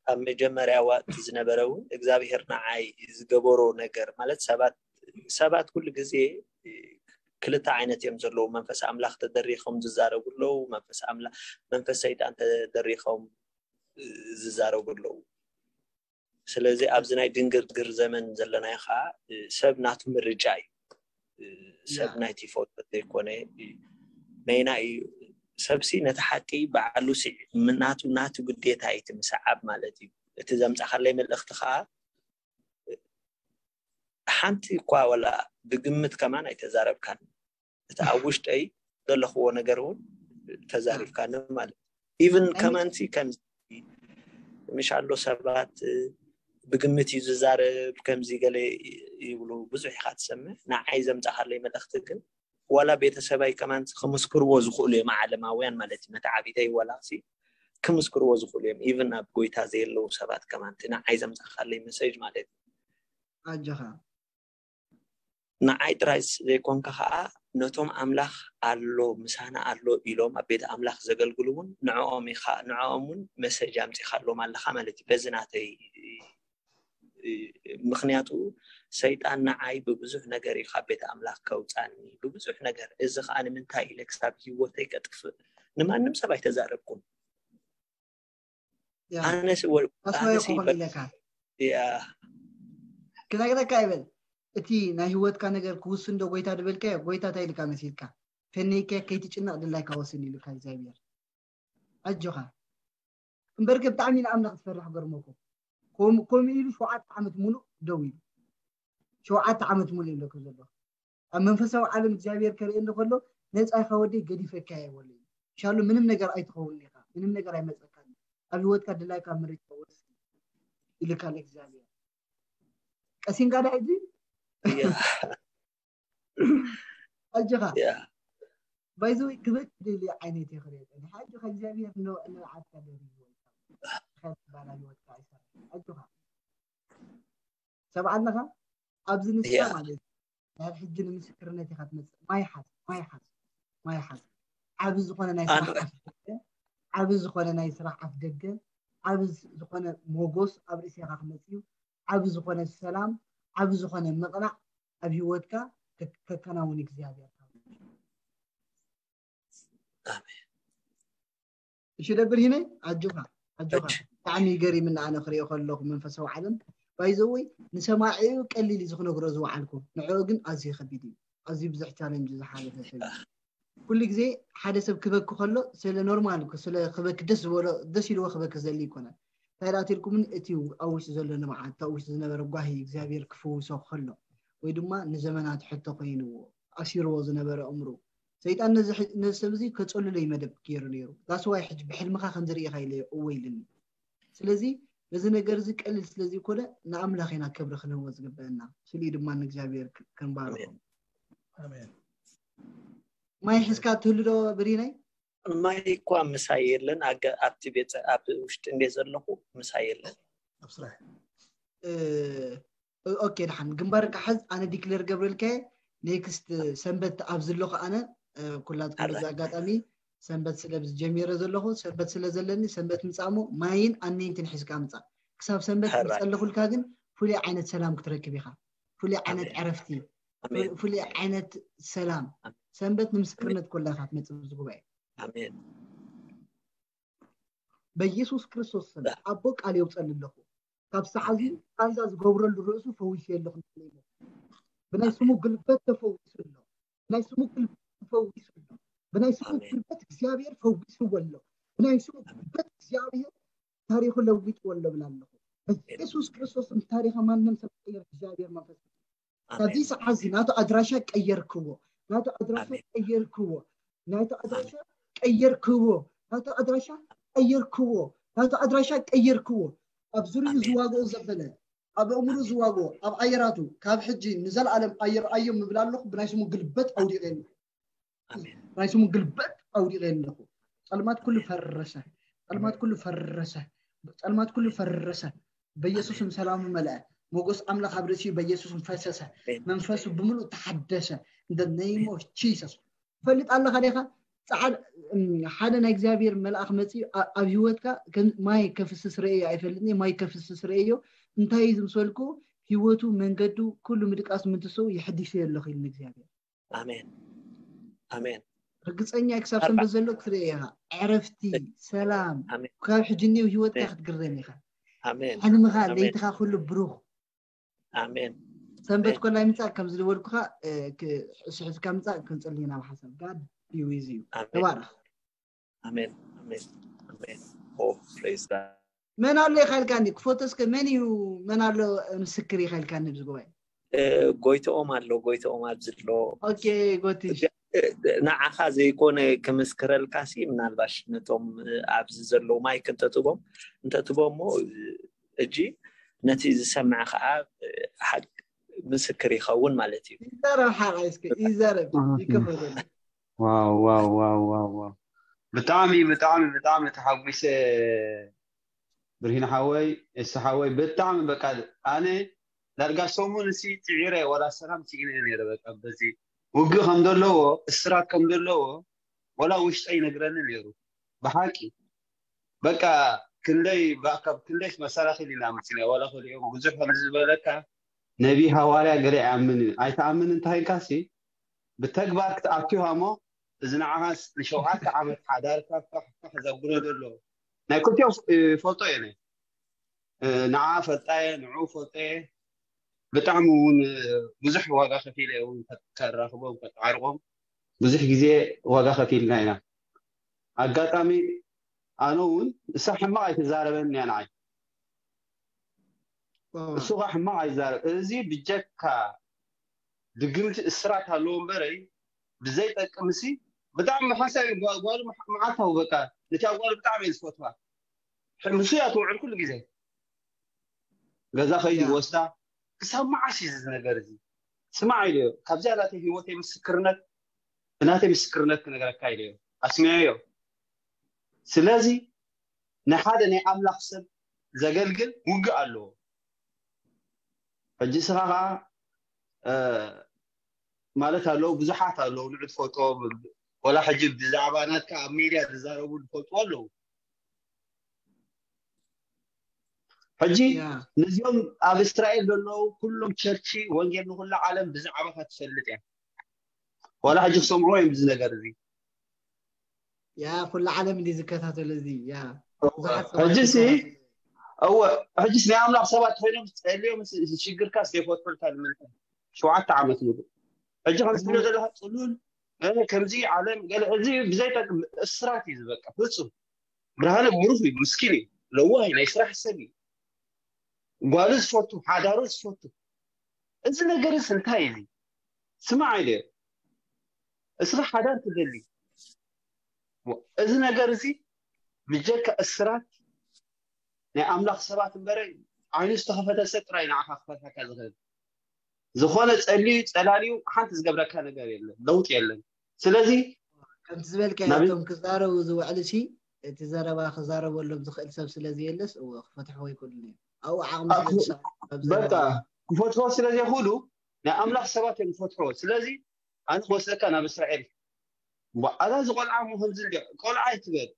ኣብ መጀመርያ ዋእቲ ዝነበረ እውን እግዚኣብሄር ንዓይ ዝገበሮ ነገር ማለት ሰባት ሰባት ኩሉ ግዜ ክልተ ዓይነት እዮም ዘለዉ። መንፈስ ኣምላኽ ተደሪኾም ዝዛረቡ ኣለዉ፣ መንፈስ ኣምላኽ መንፈስ ሰይጣን ተደሪኾም ዝዛረቡ ኣለዉ። ስለዚ ኣብዚ ናይ ድንግርግር ዘመን ዘለናዮ ከዓ ሰብ ናቱ ምርጫ እዩ። ሰብ ናይቲ ፎቶ ዘይኮነ ነይና እዩ። ሰብሲ ነቲ ሓቂ ባዕሉ ናቱ ናቱ ግዴታ እዩ እቲ ምስዓብ ማለት እዩ። እቲ ዘምፃኻለይ መልእኽቲ ከዓ ሓንቲ እኳ ወላ ብግምት ከማን ኣይተዛረብካን። እቲ ኣብ ውሽጠይ ዘለኽዎ ነገር እውን ተዛሪብካኒ ማለት ኢቭን ከማንቲ ከም ምሽ ኣሎ ሰባት ብግምት እዩ ዝዛረብ ከምዚ ገለ ይብሉ ብዙሕ ኢኻ ትሰምዕ። ንዓይ ዘምፃኻለይ መልእኽቲ ግን ዋላ ቤተሰባይ ከማን ክምስክርዎ ዝኽእሉ እዮም ዓለማውያን ማለት እዩ። መተዓቢተይ ዋላ ክምስክርዎ ዝኽእሉ እዮም። ኢቭን ኣብ ጎይታ ዘየለዉ ሰባት ከማን ንዓይ ዘምፃኻለይ መሰጅ ማለት እዩ። ኣጆኻ ንዓይ ጥራይ ዘይኮንካ ከዓ ነቶም ኣምላኽ ኣሎ ምሳና ኣሎ ኢሎም ኣብ ቤት ኣምላኽ ዘገልግሉ እውን ንዕኦም ኢኻ ንዕኦም እውን መሰጅ ኣምፂኻሎም ኣለኻ ማለት እዩ። በዚ ናተይ ምክንያቱ ሰይጣን ንዓይ ብብዙሕ ነገር እዩ ካብ ቤት ኣምላኽ ከውፃኒ ብብዙሕ ነገር። እዚ ከዓ ንምንታይ ኢለ ክሳብ ህይወተይ ከጥፍእ ንማንም ሰብ ኣይተዛረብኩን። ኣነስ ኢለካ ክነግረካ ይበል እቲ ናይ ህይወትካ ነገር ክውስን ዶ ጎይታ ዝበልካዮ ጎይታ እንታይ ኢልካ መሲልካ ፈነይከ ከይትጭነቕ ድላይካ ወስን ኢልካ እግዚኣብሔር ኣጆኻ እምበርገ ብጣዕሚ ንኣምላኽ ትፈርሕ ገርመኩም ከምኡ ኢሉ ሸውዓተ ዓመት ሙሉእ ደው ኢሉ ሸውዓተ ዓመት ሙሉእ ኢለኩም ዘለኹ ኣብ መንፈሳዊ ዓለም እግዚኣብሔር ከርእየኒ ከሎ ነፃ ኢኻ ወደይ ገዲፈካ እየ ወለይ ሻሉ ምንም ነገር ኣይትኸውን ኢኻ ምንም ነገር ኣይመፀካን ኣብ ህይወትካ ድላይካ ምርጫ ወስን ኢልካ እግዚኣብሔር ቀሲንካ ዳ ሕጂ ኣጆኻ ባይዘወይ ክበክ ደሊ ዓይነት ይኽእል ኣጆኻ እግዚኣብሔር ንዓድካ ደሪ ባላ ህይወትካ ኣይሰራ ኣጆኻ ሰብ ኣለኻ ኣብዚ ንስካ ማለት ናይ ሕጂ ንምስክርነት ኢካ ትመፅእ ማይ ሓዝ ማይ ሓዝ ማይ ሓዝ ዓቢ ዝኾነ ናይ ስራሕ ዓቢ ዝኾነ ናይ ስራሕ ኣፍ ደገ ዓቢ ዝኾነ ሞጎስ ኣብ ርእሴካ ክመፅእ እዩ ዓቢ ዝኾነ ሰላም ዓቢ ዝኾነ ምቕናዕ ኣብ ህይወትካ ከከናውን እግዚኣብሔር እሺ ደብር ሂነ ኣጆኻ ኣጆኻ ብጣዕሚ ገሪምና ኣነ ክሪኦ ከለኹ መንፈሳዊ ዓለም ባይዘወይ ንሰማዒኡ ቀሊል እዩ ዝክነግሮ ዝወዓልኩ ንዕኡ ግን ኣዝዩ ከቢድ እዩ ኣዝዩ ብዙሕ ቻለንጅ ዝሓለፈ ሰብ ኩሉ ግዜ ሓደ ሰብ ክበኪ ከሎ ስለ ኖርማል ስለ ክበኪ ደስ ዝበሎ ደስ ኢልዎ ክበኪ ዘሊ ይኮነ እንታይ ደኣ ትልኩምን እቲ ኣብ ውሽጢ ዘሎ ንብዓት ኣብ ውሽጢ ዝነበረ ጓሂ እግዚኣብሔር ክፍውሶ ከሎ ወይ ድማ ንዘመናት ሕቶ ኮይንዎ ኣሲርዎ ዝነበረ እምሩ ሰይጣን ነዚ ሰብ እዚ ከፀልሎ እዩ መደብ ገይሩ ነይሩ that's why ሕጂ ብሕልምኻ ከም ዝርኢኻ ኢለ እወ ኢልኒ ስለዚ በዚ ነገር እዚ ቀልል ስለ ዘይኮነ ንኣምላኽ ኢና ክብሪ ክንህቦ ዝግበአና ስሊ ድማ ንእግዚኣብሔር ክንባርኾም ማይ ሕዝካ ትህሉ ዶ ብሪነይ ማይ እኳ ምሳይ የለን ኣብቲ ቤት ኣብ ውሽጢ እንዴ ዘለኹ ምሳይ የለን ኣብ ስራሕ ኦኬ ደሓን ግንባርካ ሓዝ ኣነ ዲክለር ገብረልከ ኔክስት ሰንበት ኣብ ዝለኹ ኣነ ኩላትኩም በዚ ኣጋጣሚ ሰንበት ስለ ጀሚረ ዘለኹ ሰንበት ስለ ዘለኒ ሰንበት ምፃሞ ማይን ኣነይንትን ሒዝካ ምፃ ክሳብ ሰንበት ዝፀለኹልካ ግን ፍሉይ ዓይነት ሰላም ክትረክብ ኢኻ ፍሉይ ዓይነት ዕረፍቲ ፍሉይ ዓይነት ሰላም ሰንበት ንምስክርነት ኮላ ኢኻ ትመፅእ ብዚ ጉባኤ ኣሜን በኢየሱስ ክርስቶስ ስም ኣቦ ቃል የውፀል ኣለኹ። ካብ ሰዓዚ ቃንዛ ዝገብረሉ ርእሱ ፈዊሱ ኣለኹ። ብናይ ስሙ ግልበት ተፈዊሱ ኣሎ። ብናይ ስሙ ግልበት ተፈዊሱ ኣሎ። ብናይ ስሙ ግልበት እግዚኣብሔር ፈዊስዎ ኣሎ። ብናይ ስሙ ግልበት እግዚኣብሔር ታሪኹ ለዊጥዎ ኣሎ ብላ ኣለኹ። በኢየሱስ ክርስቶስ ስም ታሪኸ ማንም ሰብ ቀይር እግዚኣብሔር መንፈስ ካብዚ ሰዓት እዚ ናቱ ኣድራሻ ቀየርክዎ። ናቱ ኣድራሻ ቀየርክዎ። ናቱ ኣድራሻ ቀየርክዎ። ናቱ ኣድራሻ ቀየርክዎ። ናቱ ኣድራሻ ቀየርክዎ። ኣብ ዙርዩ ዝዋግኦ ዘበለ ኣብ ኣእምሩ ዝዋግኦ ኣብ ኣየራቱ ካብ ሕጂ ንዘለኣለም ኣይረኣዮም ምብል ኣለኹ። ብናይ ስሙ ግልበት ኣውዲቐ ናይ ስሙ ግልበጥ ኣውዲቐ ኣለኹ። ጸልማት ኩሉ ፈረሰ። ጸልማት ኩሉ ፈረሰ። ጸልማት ኩሉ ፈረሰ። በኢየሱስም ሰላሙ መለአ። ሞገስ ኣምላኽ ኣብ ርእሲኡ በኢየሱስም ፈሰሰ። መንፈሱ ብምሉእ ተሓደሰ። In the name of Jesus። ፈልጥ ኣለኻ ዲኻ? ጻዕድ ሓደ ናይ እግዚኣብሔር መልኣኽ መጺኡ ኣብ ህይወትካ ማይ ከፍስስ ርእየ ኣይፈልጥን፣ ማይ ከፍስስ ርእዮ። እንታይ እዩ ዝምሰልኩ? ህይወቱ መንገዱ ኩሉ ምድቃስ ምንትስኡ ይሕድሽ ኣለኹ ኢሉ እግዚኣብሔር። ኣሜን ኣሜን። ርግፀኛ ክሳብ ሰንበት ዘሎ ክትርኢ ኢኻ። ዕረፍቲ፣ ሰላም፣ ካብ ሕጂ እኒው ህይወትካ ክትግረም ኢኻ። ኣሜን ሕልምኻ፣ ለይትኻ ኩሉ ብሩኽ። ኣሜን። ሰንበት ኮላይ ምፃእ ከም ዝደወልኩኻ ስሕዝካ ምፃእ ክንፅሊ ናብ ሓሳብ ጋድ ቢዊዝ እዩ። ተባረኽ። ኣሜን ኣሜን ኣሜን። ኦ ፕሬዝ ጋድ። መን ኣሎ ኢኻ ኢልካኒ? ክፎቶ እስከ መን እዩ? መን ኣሎ ምስክር ኢኻ ኢልካኒ? ኣብዚ ጉባኤ ጎይትኦም ኣሎ። ጎይትኦም ኣብዚ ኣሎ። ኦኬ ጎቲ ንዓኻ ዘይኮነ ክምስክረልካ ሲ ምናልባሽ ነቶም ኣብዚ ዘለዉ ማይክ እንተትቦም እንተትቦሞ እጂ ነቲ ዝሰምዐ ከዓ ሓቅ ምስክር ይኸውን ማለት እዩ። ይዛረብ ሓቃይ እስከ ይዛረብ ይከፈለሉ። ዋው ዋው ዋው ዋው ዋው ብጣዕሚ ብጣዕሚ ብጣዕሚ ተሓጒሰ ብርሂን ሓወይ እስ ሓወይ ብጣዕሚ በቃ ኣነ ዳርጋ ሰሙን እሲ ፅዒረ ዋላ ሰላም ስኢነ ነይረ በቃ በዚ ውግእ ከም ዘለዎ እስራት ከም ዘለዎ ዋላ ውሽጠይ ይነግረኒ ነይሩ ብሓቂ በቃ ክንደይ ካብ ክንደይ መሰናክል ኢና መፂና ዋላ ከሊኦም ብዙሕ ከም ዝበለካ ነቢ ሃዋርያ ገለ ይኣምን እዩ ኣይትኣምን እንታይ ኢልካ ሲ ብተግባር ክትኣትዋ እሞ እዚ ንዓኻስ ንሸውዓተ ዓመት ሓዳርካ ፋሕ ፋሕ ዘብሎ ዘሎ ናይ ክልቲኦም ይፈልጦ እየ ንዓ ፈልጣየ ንዑ ፈልጠየ ብጣዕሚ እውን ብዙሕ ዋጋ ከፊለ እውን ከራኽቦም ከጣዕርቆም ብዙሕ ግዜ ዋጋ ከፊልና ኢና ኣጋጣሚ ኣነ እውን እሳ ሕማቕ ኣይትዛረበን እያ ንዓይ እሱ ኸ ሕማቕ ኣይዛረብ እዚ ብጀካ ድግምቲ እስራት ኣለዎ እምበረይ ብዘይጠቅምሲ ብጣዕሚ ሓሳብ ጓሉ መዓልታዊ በቃ ነቲ ጓሉ ብጣዕሚ እየ ዝፈትዋ ምሱ እያ ትውዕል ኩሉ ግዜ ገዛ ከይዱ ይወስዳ ክሳብ መዓስ እዩ እዚ ነገር እዚ ስማዕ ኢለዮ ካብዚኣ ናተይ ህይወተይ ምስክርነት ብናተይ ምስክርነት ክነግረካ ኢለዮ ኣስሚዐዮ ስለዚ ንሓደ ናይ ኣምላኽ ሰብ ዘገልግል ውግእ ኣለዎ ሕጂ ስኻ ከዓ ማለት ኣለዉ ብዙሓት ኣለዉ ንዑ ትፈልጦ ወላ ሕጂ ብዛዕባ ናትካ ኣብ ሜድያ ዝዛረቡ ዝፈልጥዎ ኣለዉ ሕጂ ነዚኦም ኣብ እስራኤል ዘለዉ ኩሎም ቸርቺ ወንጌል ንኩሉ ዓለም ብዛዕባካ ትፈልጥ እያ ዋላ ሕጂ ክሰምዕዎ እዮም እዚ ነገር እዚ ያ ኩሉ ዓለም እንዲ ዝከታተሉ እዚ ያ ሕጂሲ እወ ሕጂስ ናይ ኣምላኽ ሰባት ኮይኖም ጸልዮም ሽግርካ ዘይፈትሑልካ ንምንታይ ሸውዓተ ዓመት ሙሉእ ሕጂ ከም ትብሎ ዘለካ ጽሉል ከምዚ ዓለም ገለ እዚ ብዘይጠቅም እስራት እዩ ዝበቃ ፍጹም ብርሃነ ብሩህ እዩ ምስኪን እዩ ለዋህ ናይ ስራሕ ሰብ እዩ ጓሉ ዝፈቱ ሓዳሩ ዝፈቱ እዚ ነገርስ እንታይ እዩ ስማዕ ኢለ እስኻ ሓዳር ትደሊ እዚ ነገር እዚ ብጀካ እስራት ናይ ኣምላኽ ሰባት እምበረ ዓይኑ ዝተኸፈተ ሰብ ጥራይ ንዓኻ ክፈትሐካ ዝኽእል ዝኾነ ጸልዩ ጸላልዩ ሓንቲ ዝገብረካ ነገር የለን ለውጢ የለን ስለዚ ከምቲ ዝበልካዮ እቶም ክዛረቡ ዝውዕሉ ሲ እቲ ዘረባ ክዛረበሎም ዝኽእል ሰብ ስለ ዘየለስ እወ ክፈትሕዎ ይክእሉ እዮም ኣብኡ ዓቕሚ ስለ ዝሰ- በቃ ክፈትሖ ስለ ዘይኽእሉ ናይ ኣምላኽ ሰባት እዮም ዝፈትሖ ስለዚ ኣነ ክወስደካ ናብ እስራኤል ኣዛ እዚ ቆልዓ ሞ ከምዚ እንዲ ቆልዓ ኣይትበል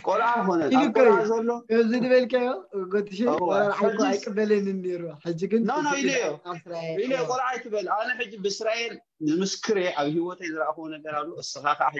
ቆልዓ ኮነ ኣብ ቆልዓ ዘሎ ከምዚ ዝበልካዮ ጎትሽ ቆልዓ እኮ ኣይቅበለንን ነይሩ ሕጂ ግን ኖ ኖ ኢለዮ ኢለዮ ቆልዓ ኣይትበል ኣነ ሕጂ ብእስራኤል ንምስክር እየ ኣብ ህይወተይ ዝረኣኽዎ ነገር ኣሎ እስኻ ከዓ